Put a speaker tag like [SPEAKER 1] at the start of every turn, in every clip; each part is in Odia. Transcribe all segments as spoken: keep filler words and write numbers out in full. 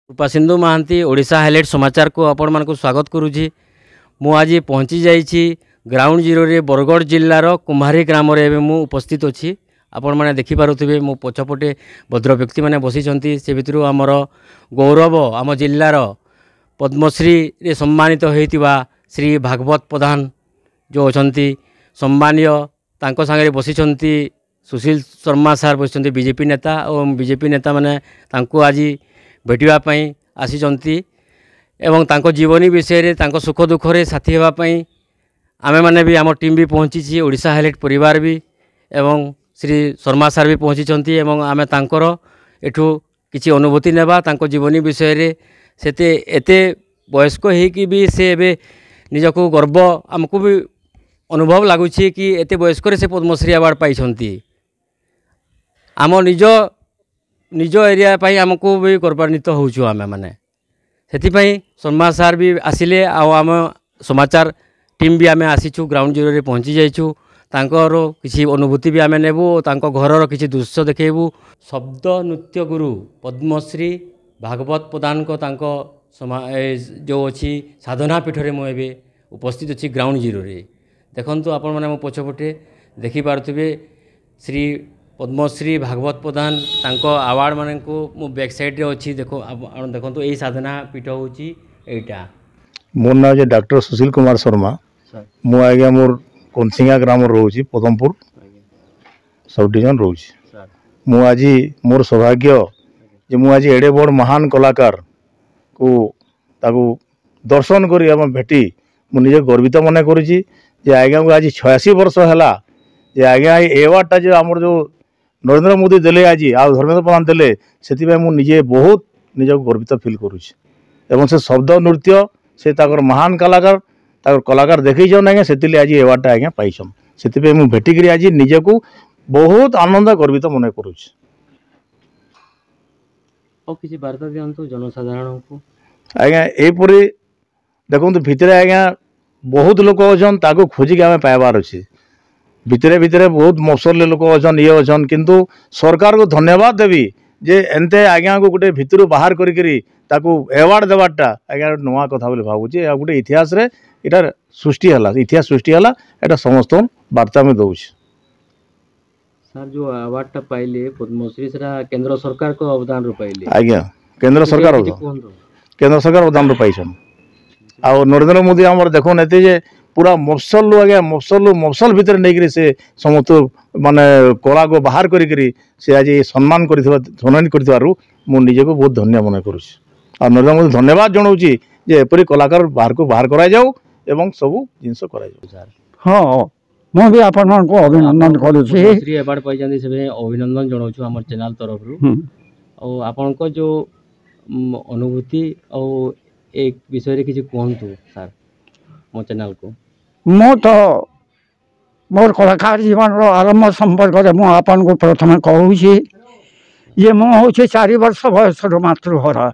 [SPEAKER 1] କୃପାସିନ୍ଧୁ ମହାନ୍ତି, ଓଡ଼ିଶା ହାଇଲାଇଟ୍ ସମାଚାରକୁ ଆପଣମାନଙ୍କୁ ସ୍ୱାଗତ କରୁଛି। ମୁଁ ଆଜି ପହଞ୍ଚି ଯାଇଛି ଗ୍ରାଉଣ୍ଡ ଜିରୋରେ, ବରଗଡ଼ ଜିଲ୍ଲାର କୁମ୍ଭାରୀ ଗ୍ରାମରେ ଏବେ ମୁଁ ଉପସ୍ଥିତ ଅଛି। ଆପଣମାନେ ଦେଖିପାରୁଥିବେ, ମୋ ପଛପଟେ ଭଦ୍ର ବ୍ୟକ୍ତିମାନେ ବସିଛନ୍ତି। ସେ ଭିତରୁ ଆମର ଗୌରବ, ଆମ ଜିଲ୍ଲାର ପଦ୍ମଶ୍ରୀରେ ସମ୍ମାନିତ ହୋଇଥିବା ଶ୍ରୀ ଭାଗବତ ପ୍ରଧାନ ଯେଉଁ ଅଛନ୍ତି ସମ୍ମାନୀୟ, ତାଙ୍କ ସାଙ୍ଗରେ ବସିଛନ୍ତି ସୁଶୀଲ ଶର୍ମା ସାର୍ ବସିଛନ୍ତି, ବିଜେପି ନେତା, ଏବଂ ବିଜେପି ନେତାମାନେ ତାଙ୍କୁ ଆଜି ଭେଟିବା ପାଇଁ ଆସିଛନ୍ତି ଏବଂ ତାଙ୍କ ଜୀବନୀ ବିଷୟରେ, ତାଙ୍କ ସୁଖ ଦୁଃଖରେ ସାଥୀ ହେବା ପାଇଁ ଆମେମାନେ ବି, ଆମ ଟିମ୍ ବି ପହଞ୍ଚିଛି, ଓଡ଼ିଶା ହାଇଲାଇଟ୍ ପରିବାର ବି ଏବଂ ଶ୍ରୀ ଶର୍ମା ସାର୍ ବି ପହଞ୍ଚିଛନ୍ତି। ଏବଂ ଆମେ ତାଙ୍କର ଏଠୁ କିଛି ଅନୁଭୂତି ନେବା ତାଙ୍କ ଜୀବନୀ ବିଷୟରେ। ସେତେ ଏତେ ବୟସ୍କ ହେଇକି ବି ସେ ଏବେ ନିଜକୁ ଗର୍ବ ଆମକୁ ବି ଅନୁଭବ ଲାଗୁଛି କି ଏତେ ବୟସ୍କରେ ସେ ପଦ୍ମଶ୍ରୀ ଆୱାର୍ଡ଼ ପାଇଛନ୍ତି। ଆମ ନିଜ ନିଜ ଏରିଆ ପାଇଁ ଆମକୁ ବି ଗୌରବାନ୍ୱିତ ହେଉଛୁ ଆମେମାନେ। ସେଥିପାଇଁ ଶର୍ମା ସାର୍ ବି ଆସିଲେ ଆଉ ଆମ ସମାଚାର ଟିମ୍ ବି ଆମେ ଆସିଛୁ, ଗ୍ରାଉଣ୍ଡ ଜିରୋରେ ପହଞ୍ଚି ଯାଇଛୁ। ତାଙ୍କର କିଛି ଅନୁଭୂତି ବି ଆମେ ନେବୁ ଓ ତାଙ୍କ ଘରର କିଛି ଦୃଶ୍ୟ ଦେଖେଇବୁ। ଶବ୍ଦ ନୃତ୍ୟ ଗୁରୁ ପଦ୍ମଶ୍ରୀ ଭାଗବତ ପ୍ରଧାନଙ୍କ ତାଙ୍କ ଯେଉଁ ଅଛି ସାଧନା ପୀଠରେ ମୁଁ ଏବେ ଉପସ୍ଥିତ ଅଛି ଗ୍ରାଉଣ୍ଡ ଜିରୋରେ। ଦେଖନ୍ତୁ, ଆପଣମାନେ ମୋ ପଛପଟେ ଦେଖିପାରୁଥିବେ ଶ୍ରୀ ପଦ୍ମଶ୍ରୀ ଭାଗବତ ପ୍ରଧାନ, ତାଙ୍କ ଆୱାର୍ଡ଼ ମାନଙ୍କୁ ମୁଁ ବ୍ୟାକ୍ ସାଇଡ଼୍ରେ ଅଛି। ଦେଖ, ଆପଣ ଦେଖନ୍ତୁ, ଏଇ ସାଧନା ପୀଠ ହେଉଛି ଏଇଟା।
[SPEAKER 2] ମୋର ନାଁ ହେଉଛି ଡାକ୍ତର ସୁଶୀଲ କୁମାର ଶର୍ମା। ମୁଁ ଆଜ୍ଞା ମୋର କନସିଙ୍ଗା ଗ୍ରାମରେ ରହୁଛି, ପଦମପୁର ସବ୍ ଡିଭିଜନ ରହୁଛି। ମୁଁ ଆଜି ମୋର ସୌଭାଗ୍ୟ ଯେ ମୁଁ ଆଜି ଏଡ଼େ ବଡ଼ ମହାନ କଳାକାରକୁ ତାକୁ ଦର୍ଶନ କରି ଏବଂ ଭେଟି ମୁଁ ନିଜେ ଗର୍ବିତ ମନେ କରୁଛି ଯେ ଆଜ୍ଞାଙ୍କୁ ଆଜି ଛୟାଅଶୀ ବର୍ଷ ହେଲା ଯେ ଆଜ୍ଞା ଏଇ ଏୱାର୍ଡ଼ଟା ଯେ ଆମର ଯେଉଁ ନରେନ୍ଦ୍ର ମୋଦି ଦେଲେ ଆଜି ଆଉ ଧର୍ମେନ୍ଦ୍ର ପ୍ରଧାନ ଦେଲେ, ସେଥିପାଇଁ ମୁଁ ନିଜେ ବହୁତ ନିଜକୁ ଗର୍ବିତ ଫିଲ୍ କରୁଛି। ଏବଂ ସେ ଶବ୍ଦ ନୃତ୍ୟ, ସେ ତାଙ୍କର ମହାନ କଳାକାର, ତାଙ୍କର କଳାକାର ଦେଖେଇଛନ୍ ଆଜ୍ଞା, ସେଥିଲାଗି ଆଜି ଏୱାର୍ଡ଼ଟା ଆଜ୍ଞା ପାଇଛନ୍। ସେଥିପାଇଁ ମୁଁ ଭେଟିକିରି ଆଜି ନିଜକୁ ବହୁତ ଆନନ୍ଦ ଗର୍ବିତ ମନେ କରୁଛି।
[SPEAKER 1] ଆଉ କିଛି ବାର୍ତ୍ତା ଦିଅନ୍ତୁ ଜନସାଧାରଣଙ୍କୁ।
[SPEAKER 2] ଆଜ୍ଞା, ଏହିପରି ଦେଖନ୍ତୁ, ଭିତରେ ଆଜ୍ଞା ବହୁତ ଲୋକ ଅଛନ୍, ତାକୁ ଖୋଜିକି ଆମେ ପାଇବାର ଅଛି। ଭିତରେ ଭିତରେ ବହୁତ ମଫସଲରେ ଲୋକ ଅଛନ୍, ଇଏ ଅଛନ୍, କିନ୍ତୁ ସରକାରକୁ ଧନ୍ୟବାଦ ଦେବି ଯେ ଏନ୍ତେ ଆଜ୍ଞାକୁ ଗୋଟେ ଭିତରୁ ବାହାର କରିକିରି ତାକୁ ଆୱାର୍ଡ଼ ଦେବାରଟା ଆଜ୍ଞା ଗୋଟେ ନୂଆ କଥା ବୋଲି ଭାବୁଛି। ଆଉ ଗୋଟେ ଇତିହାସରେ ଏଇଟା ସୃଷ୍ଟି ହେଲା, ଇତିହାସ ସୃଷ୍ଟି ହେଲା, ଏଇଟା ସମସ୍ତଙ୍କୁ ବାର୍ତ୍ତା ଆମେ ଦେଉଛି।
[SPEAKER 1] ସାର୍, ଯେଉଁ ଆୱାର୍ଡ଼ଟା ପାଇଲେ ପଦ୍ମଶ୍ରୀ, ସେଟା କେନ୍ଦ୍ର ସରକାରଙ୍କ ଅବଦାନରୁ ପାଇଲେ?
[SPEAKER 2] ଆଜ୍ଞା, କେନ୍ଦ୍ର ସରକାର
[SPEAKER 1] କୁହନ୍ତୁ।
[SPEAKER 2] କେନ୍ଦ୍ର ସରକାର ଅବଦାନରୁ ପାଇଛନ୍। ଆଉ ନରେନ୍ଦ୍ର ମୋଦି ଆମର ଦେଖୁନ୍, ଏତେ ଯେ ପୁରା ମଫସଲରୁ ଆଜ୍ଞା, ମଫସଲରୁ ମଫସଲ ଭିତରେ ନେଇକିରି ସେ ସମସ୍ତ ମାନେ କଳାକୁ ବାହାର କରିକିରି ସେ ଆଜି ସମ୍ମାନ କରିଥିବା, ସମ୍ମାନ କରିଥିବାରୁ ମୁଁ ନିଜକୁ ବହୁତ ଧନ୍ୟ ମନେ କରୁଛି। ଆଉ ନରେନ୍ଦ୍ର ମୋଦି ଧନ୍ୟବାଦ ଜଣାଉଛି ଯେ ଏପରି କଳାକାର ବାହାରକୁ ବାହାର କରାଯାଉ ଏବଂ ସବୁ ଜିନିଷ କରାଯାଉ।
[SPEAKER 1] ସାର୍।
[SPEAKER 3] ହଁ, ମୁଁ ବି ଆପଣଙ୍କୁ ଅଭିନନ୍ଦନ କରୁଛି।
[SPEAKER 1] ପଦ୍ମଶ୍ରୀ ଆୱାର୍ଡ଼ ପାଇଛନ୍ତି, ସେଥିପାଇଁ ଅଭିନନ୍ଦନ ଜଣାଉଛୁ ଆମର ଚ୍ୟାନେଲ୍ ତରଫରୁ। ଆଉ ଆପଣଙ୍କ ଯେଉଁ ଅନୁଭୂତି ଆଉ ଏ ବିଷୟରେ କିଛି କୁହନ୍ତୁ ସାର୍ ମୋ ଚ୍ୟାନେଲ୍କୁ।
[SPEAKER 3] ମୁଁ ତ ମୋର କଳାକାର ଜୀବନର ଆରମ୍ଭ ସମ୍ପର୍କରେ ମୁଁ ଆପଣଙ୍କୁ ପ୍ରଥମେ କହୁଛି ଯେ ମୁଁ ହେଉଛି ଚାରି ବର୍ଷ ବୟସରୁ ମାତୃହରା।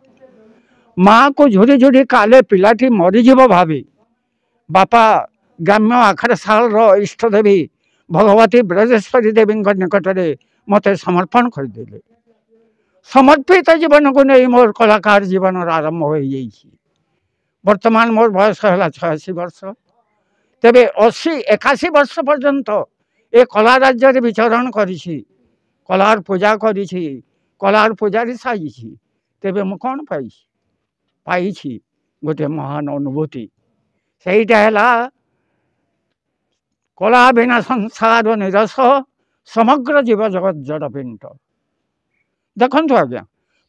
[SPEAKER 3] ମାଆକୁ ଝୁରି ଝୁରି କାଲେ ପିଲାଟି ମରିଯିବ ଭାବି ବାପା ଗ୍ରାମ୍ୟ ଆଖଡ଼ାଶାଳର ଇଷ୍ଟଦେବୀ ଭଗବତୀ ବ୍ରଜେଶ୍ୱରୀ ଦେବୀଙ୍କ ନିକଟରେ ମୋତେ ସମର୍ପଣ କରିଦେଲେ। ସମର୍ପିତ ଜୀବନକୁ ନେଇ ମୋର କଳାକାର ଜୀବନର ଆରମ୍ଭ ହୋଇଯାଇଛି। ବର୍ତ୍ତମାନ ମୋର ବୟସ ହେଲା ଛୟାଅଶୀ ବର୍ଷ। ତେବେ ଅଶୀ ଏକାଅଶୀ ବର୍ଷ ପର୍ଯ୍ୟନ୍ତ ଏ କଳା ରାଜ୍ୟରେ ବିଚରଣ କରିଛି, କଳାର ପୂଜା କରିଛି, କଳାର ପୂଜାରୀ ସାଜିଛି। ତେବେ ମୁଁ କ'ଣ ପାଇଛି? ପାଇଛି ଗୋଟିଏ ମହାନ ଅନୁଭୂତି। ସେଇଟା ହେଲା କଳା ବିନା ସଂସାର ନିରସ, ସମଗ୍ର ଜୀବ ଜଗତ ଜଡ଼ ପିଣ୍ଡ। ଦେଖନ୍ତୁ ଆଜ୍ଞା,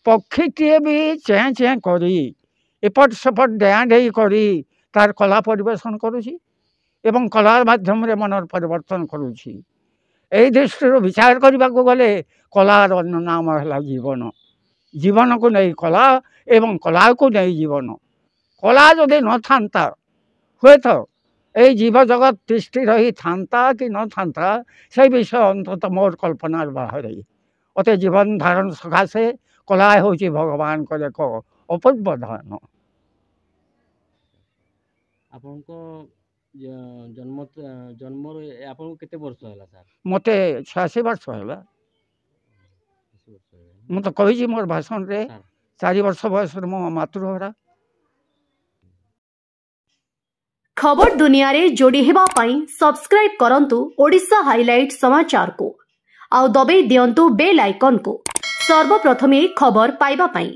[SPEAKER 3] ପକ୍ଷୀଟିଏ ବି ଚେଁ ଚେଁ କରି ଏପଟ ସେପଟ ଡେଆଁ ଡେଇଁ କରି ତାର କଳା ପରିବେଷଣ କରୁଛି ଏବଂ କଳା ମାଧ୍ୟମରେ ମନର ପରିବର୍ତ୍ତନ କରୁଛି। ଏଇ ଦୃଷ୍ଟିରୁ ବିଚାର କରିବାକୁ ଗଲେ କଳାର ଅନ୍ୟ ନାମ ହେଲା ଜୀବନ। ଜୀବନକୁ ନେଇ କଳା ଏବଂ କଳାକୁ ନେଇ ଜୀବନ। କଳା ଯଦି ନଥାନ୍ତା, ହୁଏତ ଏଇ ଜୀବ ଜଗତ ତିଷ୍ଠି ରହିଥାନ୍ତା କି ନଥାନ୍ତା, ସେଇ ବିଷୟ ଅନ୍ତତଃ ମୋର କଳ୍ପନାର ବାହାରେ। ଅତେ ଜୀବନ ଧାରଣ ସକାଶେ କଳା ହେଉଛି ଭଗବାନଙ୍କର ଏକ ଅପୂର୍ବ ଦାନ।
[SPEAKER 1] ଆପଣଙ୍କ ଜନ୍ମ ଜନ୍ମରୁ ଆପଣଙ୍କୁ କେତେ ବର୍ଷ ହେଲା ସାର୍?
[SPEAKER 3] ମୋତେ ଛୟାଅଶୀ ବର୍ଷ ହେଲା। ମୁଁ ତ କହିଛି ମୋର ଭାଷଣରେ। ଚାରି ବର୍ଷ ବୟସରୁ ମୋ ମାତୃହରା।
[SPEAKER 4] ଖବର ଦୁନିଆରେ ଯୋଡ଼ି ହେବା ପାଇଁ ସବସ୍କ୍ରାଇବ୍ କରନ୍ତୁ ଓଡ଼ିଶା ହାଇଲାଇଟ୍ ସମାଚାରକୁ, ଆଉ ଦବେଇ ଦିଅନ୍ତୁ ବେଲ୍ ଆଇକନ୍କୁ ସର୍ବପ୍ରଥମେ ଖବର ପାଇବା ପାଇଁ।